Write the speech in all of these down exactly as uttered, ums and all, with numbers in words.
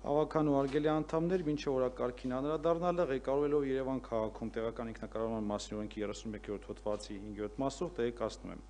Ավական ու արգելի անդամներ, մինչև օրակարգին անդրադառնալը ղեկավարելով Երևան քաղաքում տեղական ինքնակառավարման մասին օրենքի երեսունմեկերորդ հոդվածի հինգերորդ մասով տեղեկացնում եմ։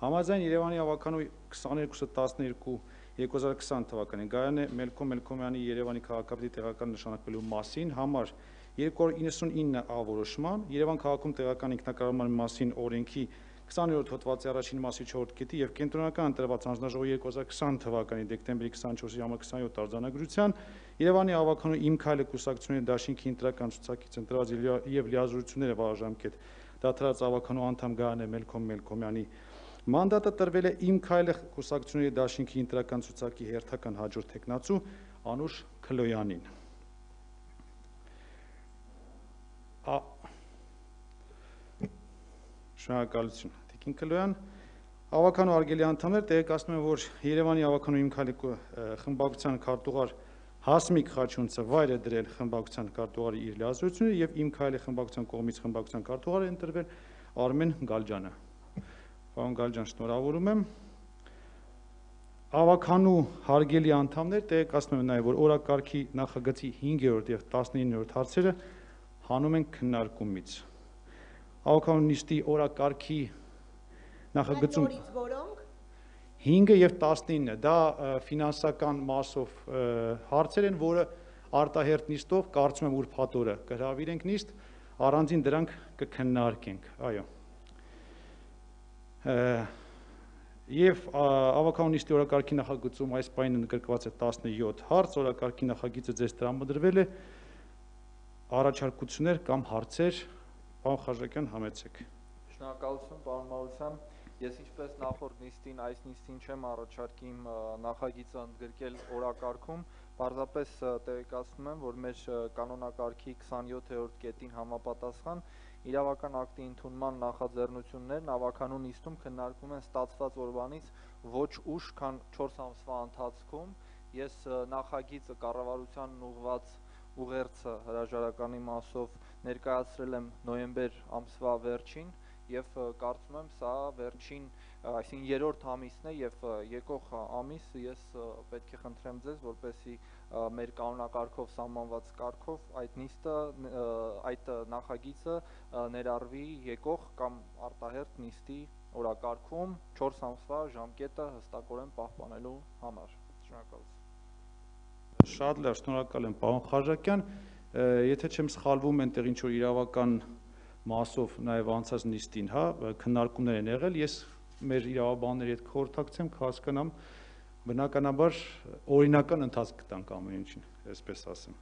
Համաձայն Երևանի ավականու քսաներկուսը տասներկու երկու հազար քսան թվականին Գայանե Մելքոմ Մելքոմյանի Երևանի քաղաքապետի տեղական նշանակվելու մասին համար երկու հարյուր իննսունինը ա որոշման Երևան քաղաքում տեղական ինքնակառավարման մասին օրենքի քսաներորդ հոդվածի առաջին մասի չորրորդ կետի եւ կենտրոնական ընտրված հանձնաժողովի երկու հազար քսան թվականի դեկտեմբերի քսանչորսի համար քսանյոթ արձանագրության Երևանի ավականու իմ քայլը կուսակցությունների դաշինքի ընտրական ցուցակից ընտրված եւ լիազորությունները վարաժամկետ դադարած ավականու անդամ Գայանե Մելքոմ Մելքոմյանի մանդատը տրվել է իմ քայլը կուսակցությունների դաշինքի ընտրական ցուցակի հերթական հաջորդ տեխնացու Անուշ Քլոյանին։ Շնորհակալություն Տիկին Քլոյան, ավականու արգելի անդամներ, տեղեկացնում եմ, որ Երևանի ավականու իմ քայլի խմբակցության քարտուղար Հասմիկ Խաչունցը վայր է դրել խմբակցության քարտուղարի իր լիազորությունները եւ իմ քայլի խմբակցության կողմից խմբակցության քարտուղար է ընտրվել Արմեն Գալջյանը։ Պարոն Գալջյան, շնորհավորում եմ։ Ավականու հարգելի անդամներ, տեղեկացնում եմ նաեւ, որ օրակարգի նախագծի հինգերորդ եւ տասնիններորդ հարցերը հանում են քննարկումից։ Ավականու նիստի օրակարգի նախագծում հինգը եւ տասնինը դա ֆինանսական մասով հարցեր են, որը արտահերթ նիստով կարծում եմ ուրբաթ օրը կհրավիրենք նիստ, առանձին դրանք կքննարկենք, այո։ Եվ ավականու նիստի օրակարգի նախագծում այս պահին ընդգրկված է տասնյոթ հարց, օրակարգի նախագիծը ձեզ տրամադրվել է, առաջարկություններ կամ հարցեր, պարոն Խաչատրյան, համեցեք։ Շնորհակալություն, պարոն Մարության, ես ինչպես նախորդ նիստին, այս նիստին չեմ առաջարկի իմ նախագիծը ընդգրկել օրակարգում, պարզապես տեղեկացնում եմ, որ մեր կանոնակարգի քսանյոթերորդ կետին համապատասխան իրավական ակտի ընդունման նախաձեռնություններն ավականու նիստում քննարկվում են ստացված օրվանից ոչ ուշ, քան չորս ամսվա ընթացքում, ես նախագիծը կառավարությանն ուղղված ուղերձը հրաժարականի մասով ներկայացրել եմ նոյեմբեր ամսվա վերջին եւ կարծում եմ սա վերջին, այսինքն երրորդ ամիսն է եւ եկող ամիս ես պետք է խնդրեմ ձեզ, որպեսզի մեր կանոնակարգով սահմանված կարգով այդ նիստը, այդ նախագիծը ներառվի եկող կամ արտահերթ նիստի օրակարգում չորս ամսվա ժամկետը հստակորեն պահպանելու համար։ Շնորհակալություն։ Շատ լավ, շնորհակալ եմ, պարոն Խաչատրյան, եթե չեմ սխալվում, այնտեղ ինչ որ իրավական մասով նաև անցած նիստին, հա, քննարկումներ են եղել, ես մեր իրավաբանների հետ կխորհրդակցեմ, կհասկանամ, բնականաբար օրինական ընթացք կտանք ամեն ինչին, այսպես ասեմ։